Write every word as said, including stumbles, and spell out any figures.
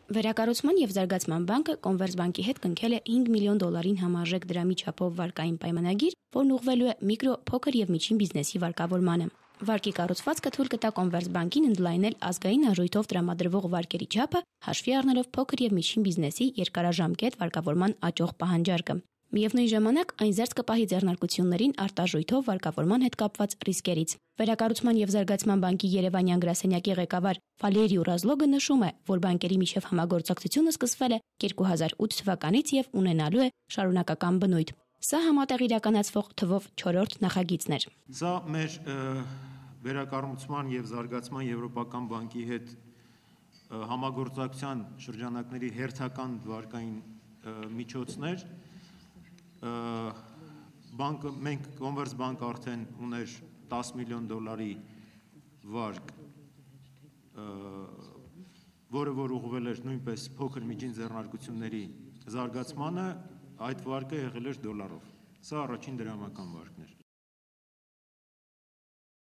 Վերակառուցման եւ զարգացման բանկը Կոնվերսբանկի հետ կնքել է հինգ միլիոն դոլարին համարժեք դրամի չափով վարկային պայմանագիր, որն ուղղվելու է միկրո, փոքր եւ միջին բիզնեսի վարկավորմանը։ Վարկի կառուցվածքը թույլ կտա Կոնվերսբանկին ընդլայնել ազգային արժույթով տրամադրվող վարկերի չափը, հաշվի առնելով փոքր եւ միջին բիզնեսի երկարաժամկետ վարկավորման աճող պահանջարկը։ Միևնույն ժամանակ այն զերծ կպահի ձեռնարկություններին արտաժույթով վարկավորման հետ կապված ռիսկերից։ Վերակառուցման եւ զարգացման բանկի Երևանյան գրասենյակի ղեկավար Վալերի Ուրազլոգը նշում է, որ բանկերի միջև համագործակցությունը սկսվել է երկու հազար ութ թվականից եւ ունենալու է շարունակական բնույթ։ Սա համատեղ իրականացվող թվով չորրորդ նախագիծն էր։ Սա մեր վերակառուցման եւ զարգացման եվրոպական բանկի հետ համագործակցության շրջանակների հերթական վարկային միջոցներ։ Բանկը մենք Կոնվերսբանկը արդեն ուներ տասը միլիոն դոլարի վարկ, որը որ ուղղվել էր նույնպես փոքր միջին ձեռնարկությունների զարգացմանը, այդ վարկը եղել էր դոլարով։ Սա առաջին դրամական վարկն էր։